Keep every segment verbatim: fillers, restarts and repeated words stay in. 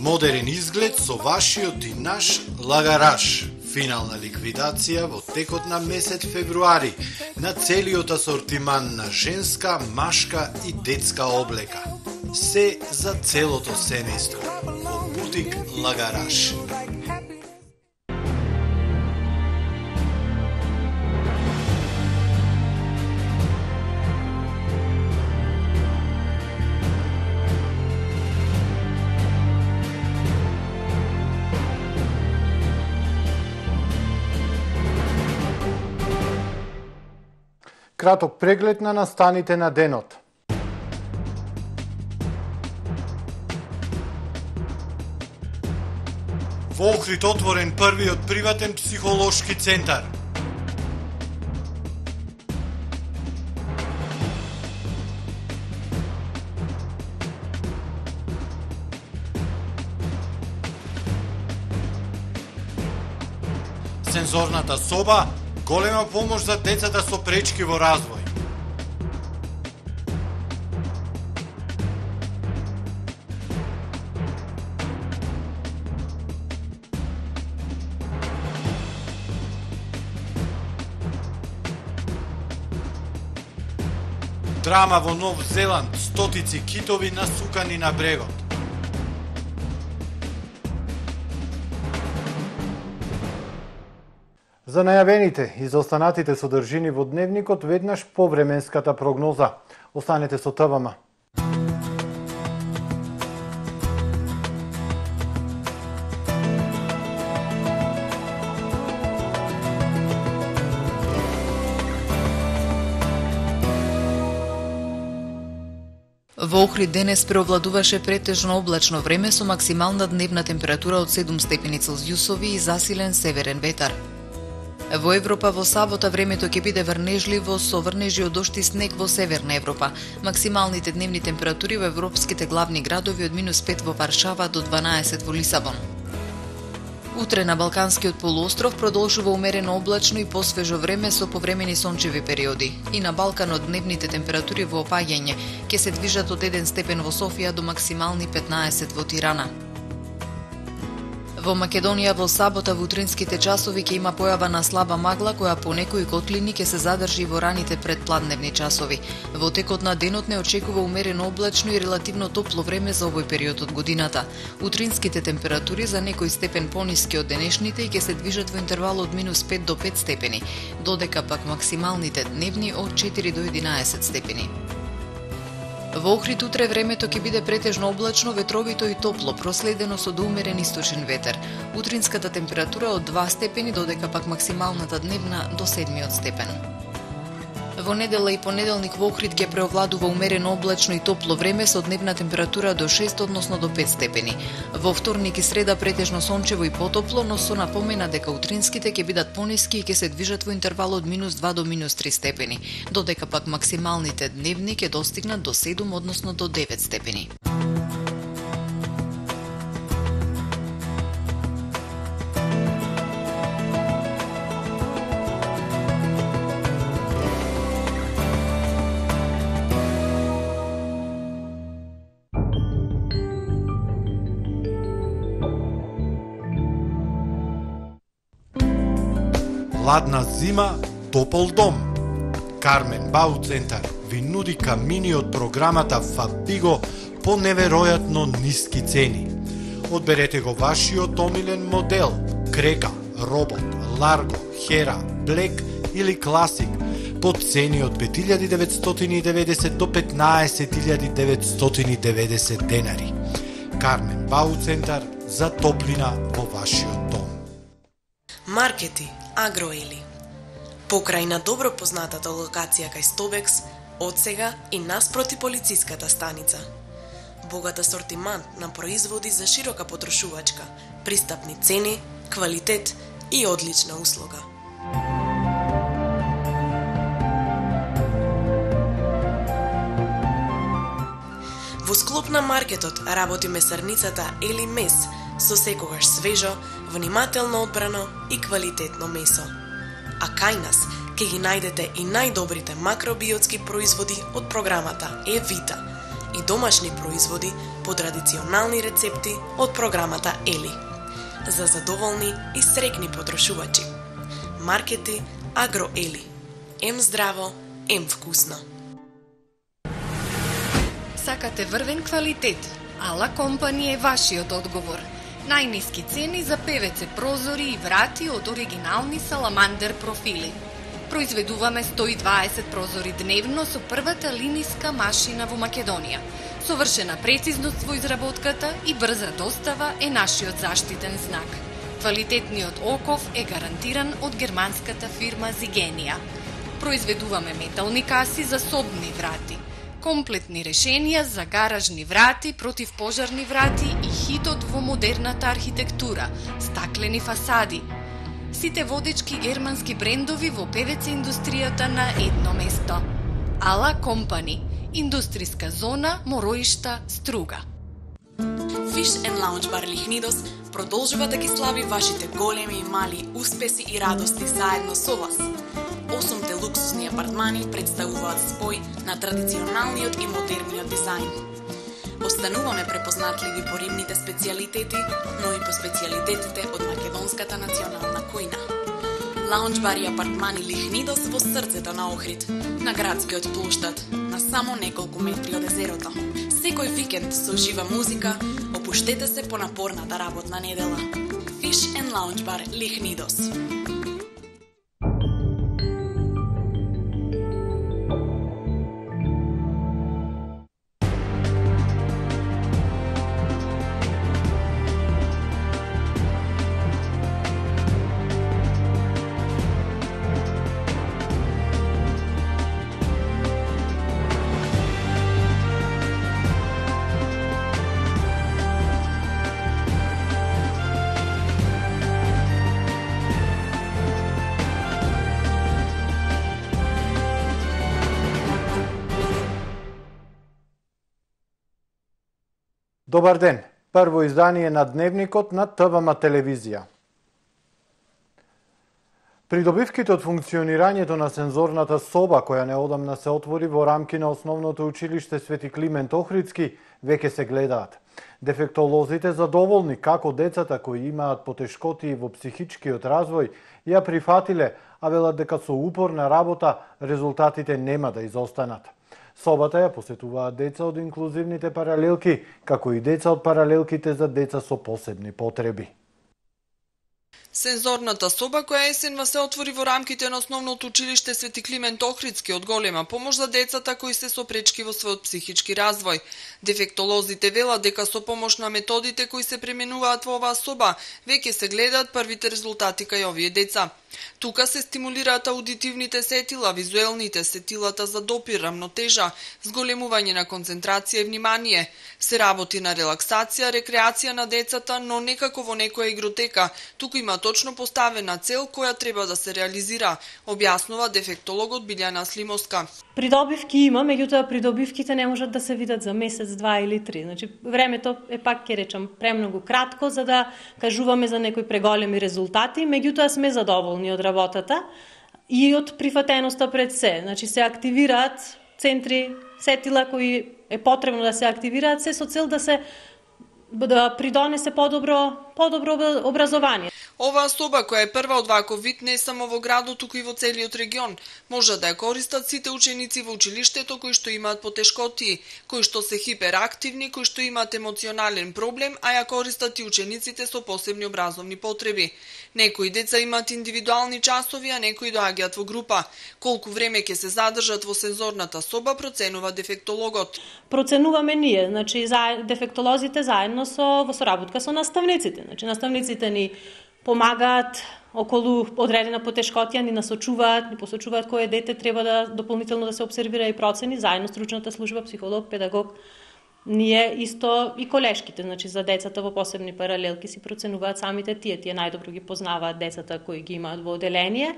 Модерен изглед со вашиот и наш лагараш. Финална ликвидација во текот на месец февруари на целиот асортиман на женска, машка и детска облека. Се за целото семејство. Во бутик Лагараш. Краток преглед на настаните на денот. Во Охрид отворен првиот приватен психолошки центар. Сензорната соба – голема помош за децата со пречки во развој. Драма во Нов Зеланд, стотици китови насукани на брегот. За најавените и за останатите содржини во дневникот веднаш по временската прогноза. Останете со ТВМ. Во Охрид денес преовладуваше претежно облачно време со максимална дневна температура од седум степени Целзиусови и засилен северен ветар. Во Европа во сабота времето ќе биде врнежливо со врнежи од дожд и снег во Северна Европа. Максималните дневни температури во европските главни градови од минус пет во Варшава до дванаесет во Лисабон. Утре на Балканскиот полуостров продолжува умерено облачно и посвежо време со повремени сончеви периоди. И на Балканот дневните температури во опаѓање ќе се движат од еден степен во Софија до максимални петнаесет во Тирана. Во Македонија во сабота во утринските часови ќе има појава на слаба магла која по некои котлини ќе се задржи во раните предпладневни часови. Во текот на денот не очекува умерено облачно и релативно топло време за овој период од годината. Утринските температури за некој степен пониски од денешните и ќе се движат во интервал од минус пет до пет степени, додека пак максималните дневни од четири до единаесет степени. Во Охрид утре времето ќе биде претежно облачно, ветровито и топло, проследено со доумерен источен ветер. Утринската температура од два степени, додека пак максималната дневна до седмиот степен. Во недела и понеделник во Охрид ќе преовладува умерено облачно и топло време со дневна температура до шест, односно до пет степени. Во вторник и среда претежно сончево и потопло, но со напомена дека утринските ќе бидат пониски и ќе се движат во интервал од минус два до минус три степени, додека пак максималните дневни ќе достигнат до седум, односно до девет степени. Ладна зима, топол дом. Кармен Бау Центар ви нуди камини од програмата Фабиго по неверојатно ниски цени. Одберете го вашиот омилен модел: Крека, Робот, Ларго, Хера, Блек или Класик по цени од пет илјади деветстотини и деветдесет до петнаесет илјади деветстотини и деветдесет денари. Кармен Бау Центар за топлина во вашиот дом. Маркети Агроели. Покрај на добро познатата локација кај Стобекс, одсега и наспроти полициската станица. Богат асортимент на производи за широка потрошувачка, пристапни цени, квалитет и одлична услуга. Во склоп на маркетот работи месарницата Ели Мес со секогаш свежо, внимателно одбрано и квалитетно месо. А кај нас ќе ги најдете и најдобрите макробиотски производи од програмата Евита и домашни производи по традиционални рецепти од програмата Ели. За задоволни и среќни потрошувачи. Маркети Агро Ели. Ем здраво, ем вкусно. Сакате врвен квалитет? Ала Компани е вашиот одговор. Најниски цени за певеце прозори и врати од оригинални саламандер профили. Произведуваме сто и дваесет прозори дневно со првата линиска машина во Македонија. Совршена прецизност во изработката и брза достава е нашиот заштитен знак. Квалитетниот оков е гарантиран од германската фирма Зигенија. Произведуваме метални каси за собни врати, комплетни решенија за гаражни врати, противпожарни врати и хитот во модерната архитектура, стаклени фасади. Сите водечки германски брендови во певеце индустријата на едно место. Ала Компани, индустријска зона Мороишта, Струга. Fish and Lounge Bar Лихнидос продолжува да ги слави вашите големи и мали успеси и радости заедно со вас. Осумте луксузни апартмани представуваат спој на традиционалниот и модерниот дизајн. Остануваме препознатливи по рибните специјалитети, но и по специјалитетите од македонската национална кујна. Лаунџ бар и апартмани Лихнидос во срцето на Охрид, на градскиот плоштад, на само неколку метри од езерото. Секој викенд со жива музика, опуштете се по напорната работна недела. Fish and Lounge Bar Лихнидос. Добар ден! Прво издание на Дневникот на ТВМ телевизија. Придобивките од функционирањето на сензорната соба, која неодамна се отвори во рамки на Основното училиште Свети Климент Охридски, веќе се гледаат. Дефектолозите задоволни како децата кои имаат потешкоти во психичкиот развој ја прифатиле, а велат дека со упорна работа резултатите нема да изостанат. Собата ја посетуваат деца од инклузивните паралелки, како и деца од паралелките за деца со посебни потреби. Сензорната соба која есенва се отвори во рамките на Основното училиште Свети Климент Охридски од голема помош за децата кои се со пречки во својот психички развој. Дефектолозите велат дека со помош на методите кои се применуваат во оваа соба, веќе се гледаат првите резултати кај овие деца. Тука се стимулираат аудитивните сетила, визуелните сетилата за допир, рамнотежа, зголемување на концентрација и внимание. Се работи на релаксација, рекреација на децата, но некако во некоја игротека. Туку има точно поставена цел која треба да се реализира, објаснува дефектологот Билјана Слимовска. Придобивки има, меѓутоа придобивките не можат да се видат за месец, два или три. Значи, времето е пак, ќе речам, премногу кратко за да кажуваме за некои преголеми резултати, меѓутоа сме задоволни од работата и од прифатеноста пред се. Значи, се активираат центри, сетила кои е потребно да се активираат, се со цел да се да придонесе подобро, подобро образование. Оваа соба, која е прва од ваков вид не само во градот, туку и во целиот регион, може да ја користат сите ученици во училиштето кои што имаат потешкоти, кои што се хиперактивни, кои што имаат емоционален проблем, а ја користат и учениците со посебни образовни потреби. Некои деца имаат индивидуални часови, а некои доаѓаат во група. Колку време ќе се задржат во сензорната соба, проценува дефектологот. Проценуваме ние, значи дефектолозите заедно со во соработка со наставниците. Значи наставниците ни помагаат околу одредена потешкотија, ни насочуваат, ни посочуваат кое дете треба да дополнително да се обсервира и процени, заедно стручната служба, психолог, педагог. Ние исто и колешките, значи за децата во посебни паралелки си проценуваат самите тие, тие најдобро ги познаваат децата кои ги имаат во оделение.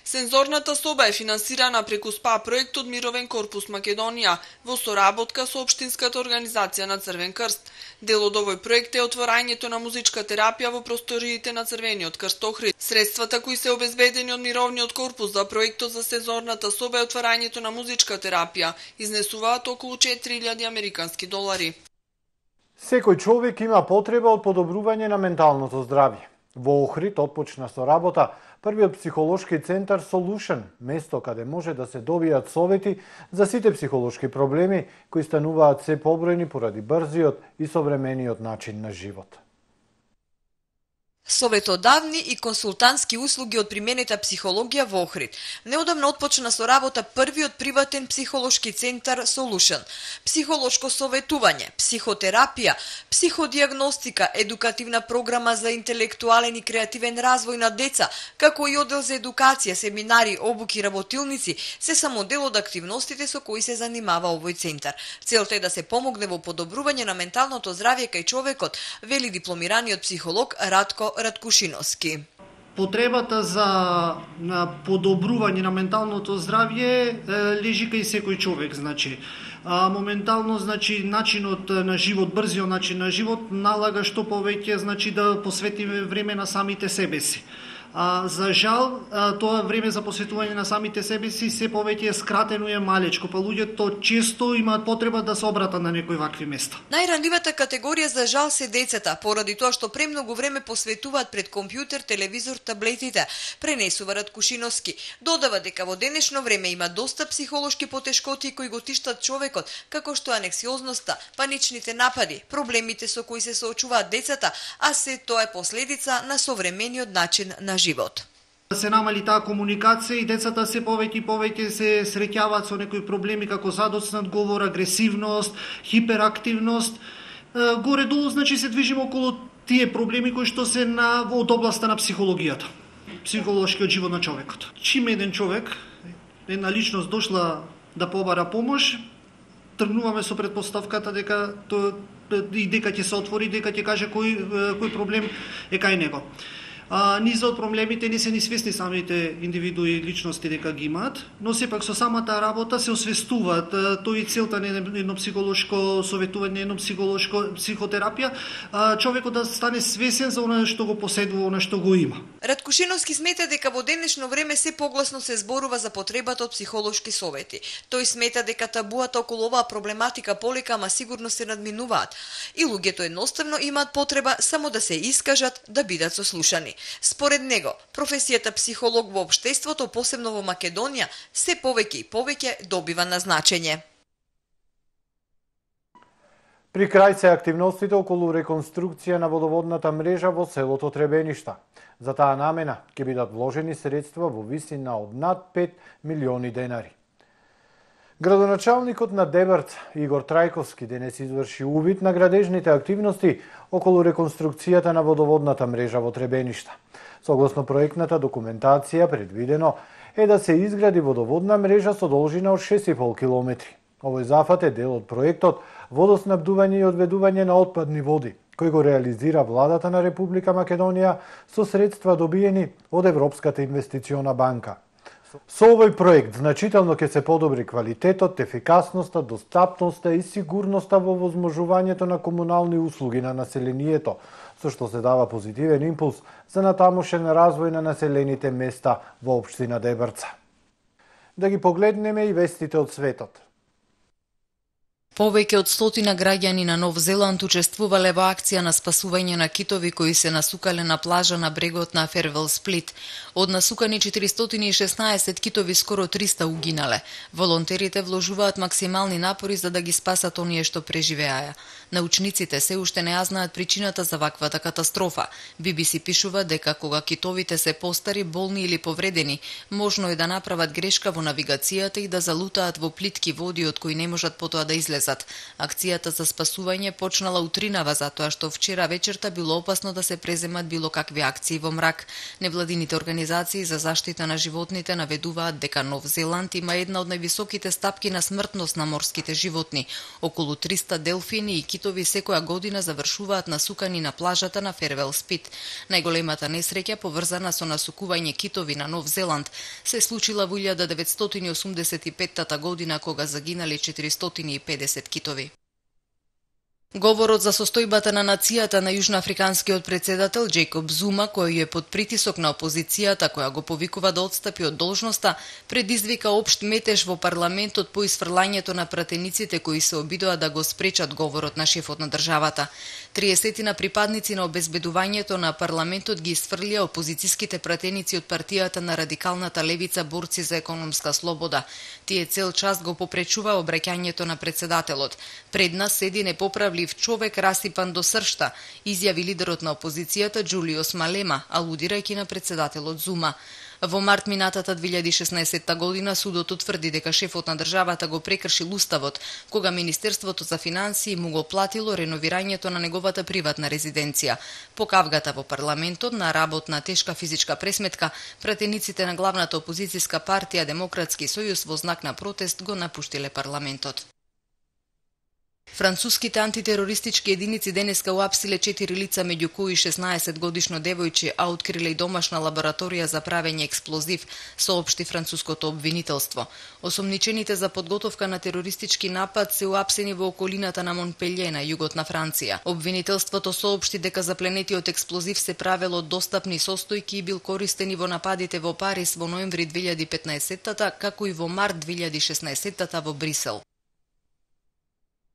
Сензорната соба е финансирана преку СПА проект од Мировен корпус Македонија во соработка со општинската организација на Црвен крст. Дел од овој проект е отворањето на музичка терапија во просториите на Црвениот крст Охрид. Средствата кои се обезбедени од Мировниот корпус за проектот за сензорната соба и отворањето на музичка терапија изнесуваат околу четири илјади американски долари. Секој човек има потреба од подобрување на менталното здравје. Во Охрид отпочна со работа првиот психолошки центар Solution, место каде може да се добијат совети за сите психолошки проблеми кои стануваат се побројни поради брзиот и современиот начин на живот. Советодавни и консултантски услуги од применета психологија во Охрид. Неодамно отпочна со работа првиот приватен психолошки центар Solution. Психолошко советување, психотерапија, психодиагностика, едукативна програма за интелектуален и креативен развој на деца, како и оддел за едукација, семинари, обуки, работилници, се само дел од активностите со кои се занимава овој центар. Целта е да се помогне во подобрување на менталното здравје кај човекот, вели дипломираниот психолог Радко Раткушиновски. Потребата за на подобрување на менталното здравје лежи кај секој човек, значи. А, моментално, значи, начинот на живот, брзиот начин на живот налага што повеќе, значи, да посветиме време на самите себе си. А, за жал, а, тоа време за посветување на самите себе си се повеќе е скратено и е малечко, па луѓето често имаат потреба да се обратат на некои вакви места. Најранливата категорија за жал се децата, поради тоа што премногу време посветуваат пред компјутер, телевизор, таблетите, пренесува Раткушиновски. Додава дека во денешно време има доста психолошки потешкоти кои го тиштат човекот, како што анксиозноста, паничните напади, проблемите со кои се соочуваат децата, а се тоа е последица на современиот начин на живот. Се намали таа комуникација и децата се повеќе и повеќе се среќаваат со некои проблеми како задоцнат говор, агресивност, хиперактивност. Горе-долу, значи, се движиме околу тие проблеми кои што се на од областа на психологијата, психолошкиот живот на човекот. Чим еден човек, една личност дошла да побара помош, тргнуваме со претпоставката дека тоа и дека ќе се отвори, дека ќе каже кој кој проблем е кај него. А, низа од проблемите не се ни свесни самите индивидуи и личности дека ги имаат, но сепак со самата работа се освестуваат. Тој и целта на едно психолошко советување, едно психолошко психотерапија, а, човекот да стане свесен за она што го поседува, она што го има. Раткушиновски смета дека во денешно време се погласно се зборува за потребата од психолошки совети. Тој смета дека табуата околу оваа проблематика полека, ама сигурно се надминуваат и луѓето едноставно имаат потреба само да се искажат, да бидат сослушани. Според него, професијата психолог во општеството, посебно во Македонија, се повеќе и повеќе добива на значење. При крај се активностите околу реконструкција на водоводната мрежа во селото Требеништа. За таа намена ќе бидат вложени средства во висина од над пет милиони денари. Градоначалникот на Дебрца, Игор Трајковски, денес изврши увид на градежните активности околу реконструкцијата на водоводната мрежа во Требеништа. Согласно проектната документација, предвидено е да се изгради водоводна мрежа со должина од шест и пол километри. Овој зафат е дел од проектот Водоснабдување и одведување на отпадни води, кој го реализира владата на Република Македонија со средства добиени од Европската инвестициона банка. Со овој проект значително ќе се подобри квалитетот, ефикасноста, достапноста и сигурноста во возможувањето на комунални услуги на населението, со што се дава позитивен импулс за натамошен развој на населените места во општина Дебрца. Да ги погледнеме и вестите од светот. Повеќе од стотина граѓани на Нов Зеланд учествувале во акција на спасување на китови кои се насукале на плажа на брегот на Фервел Сплит. Од насукани четиристотини и шеснаесет китови скоро триста угинале. Волонтерите вложуваат максимални напори за да ги спасат оние што преживеаја. Научниците се уште не ја знаат причината за ваквата катастрофа. Би би си пишува дека кога китовите се постари, болни или повредени, можно е да направат грешка во навигацијата и да залутаат во плитки води од кои не можат потоа да излезат. навезат. Акцијата за спасување почнала утринава затоа што вчера вечерта било опасно да се преземат било какви акции во мрак. Невладините организации за заштита на животните наведуваат дека Нов Зеланд има една од највисоките стапки на смртност на морските животни. Околу триста делфини и китови секоја година завршуваат насукани на плажата на Фервел Спит. Најголемата несреќа поврзана со насукување китови на Нов Зеланд се случила во илјада деветстотини осумдесет и петта година кога загинале четиристотини и педесет китови. Говорот за состојбата на нацијата на јужноафриканскиот председател Џејкоб Зума, кој е под притисок на опозицијата која го повикува да отстапи од должноста, предизвика општ метеж во парламентот по исфрлањето на пратениците кои се обидоа да го спречат говорот на шефот на државата. триесетина припадници на обезбедувањето на парламентот ги исфрлија опозицијските пратеници од партијата на радикалната левица борци за економска слобода. Тие цел час го попречува обраќањето на председателот. Пред нас седи непоправлив човек расипан до сршта, изјави лидерот на опозицијата Џулиос Малема, алудирајќи на председателот Зума. Во март минатата две илјади и шеснаесетта година судот утврди дека шефот на државата го прекршил уставот, кога Министерството за финансии му го платило реновирањето на неговата приватна резиденција. По кавгата во парламентот на работна тешка физичка пресметка, пратениците на главната опозицијска партија Демократски сојуз во знак на протест го напуштиле парламентот. Француските антитерористички единици денеска уапсиле четири лица, меѓу кои шеснаесет годишно девојче, а откриле и домашна лабораторија за правење експлозив, соопшти француското обвинителство. Осомничените за подготовка на терористички напад се уапсени во околината на Монпелје на југот на Франција. Обвинителството соопшти дека запленетиот експлозив се правел од достапни состојки и бил користен и во нападите во Париз во ноември две илјади и петнаесетта, како и во март две илјади и шеснаесетта во Брисел.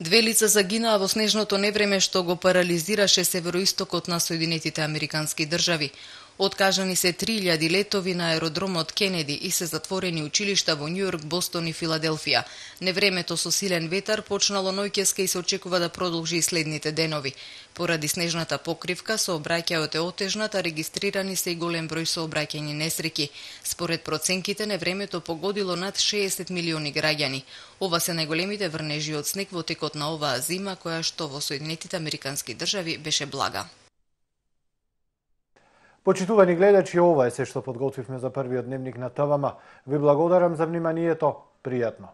Две лица загинаа во снежното невреме што го парализираше североистокот на Соединетите Американски држави. Откажани се три илјади летови на аеродромот Кенеди и се затворени училишта во Њујорк, Бостон и Филаделфија. Невремето со силен ветар почнало ноќеска и се очекува да продолжи и следните денови. Поради снежната покривка сообраќајот е отежнат, а регистрирани се и голем број сообраќајни несреќи. Според проценките, невремето погодило над шеесет милиони граѓани. Ова се најголемите врнежи од снег во текот на оваа зима, која што во Соединетите Американски држави беше блага. Почитувани гледачи, ова е се што подготвивме за првиот дневник на ТВМ. Ви благодарам за вниманието. Пријатно.